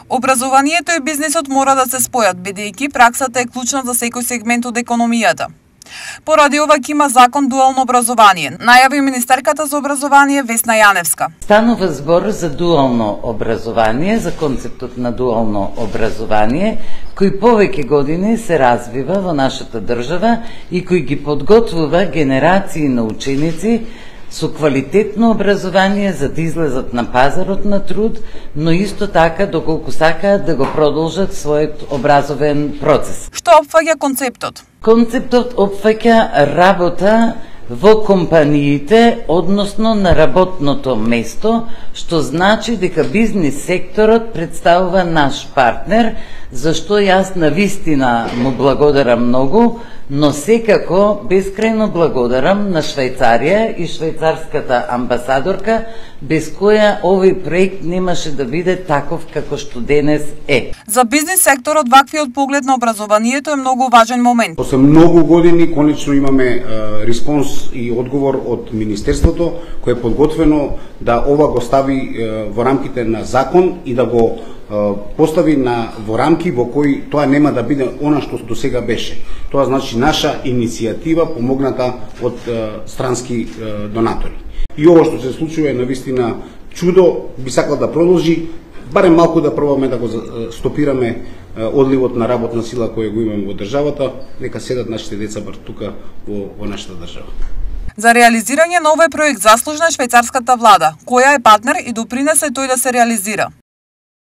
Образованието и бизнисот мора да се спојат, бидејќи праксата е клучна за секој сегмент од економијата. Поради ова ќе има закон дуално образование, најави министерката за образование Весна Јаневска. Станува збор за дуално образование, за концептот на дуално образование, кој повеќе години се развива во нашата држава и кој ги подготвува генерации на ученици со квалитетно образование за да излезат на пазарот на труд, но исто така доколку сакаат да го продолжат својот образовен процес. Што опфаќа концептот? Концептот опфаќа работа во компаниите, односно на работното место, што значи дека бизнис секторот представува наш партнер, зашто јас навистина му благодарам многу, но секако бескрајно благодарам на Швајцарија и швајцарската амбасадорка, без која овој проект немаше да биде таков како што денес е. За бизнис секторот ваквиот поглед на образованието е многу важен момент. После многу години конечно имаме респонс и одговор од Министерството, кој е подготвено да ова го стави во рамките на закон и да го постави во рамки во кои тоа нема да биде она што до сега беше. Тоа значи наша иницијатива помогната од странски донатори. И ова што се случува е навистина чудо, би сакал да продолжи, барем малку да пробаме да го стопираме одливот на работна сила која го имаме во државата, нека седат нашите деца бар тука во нашата држава. За реализирање на овој проект заслужна е швајцарската влада, која е партнер и допринесе тој да се реализира.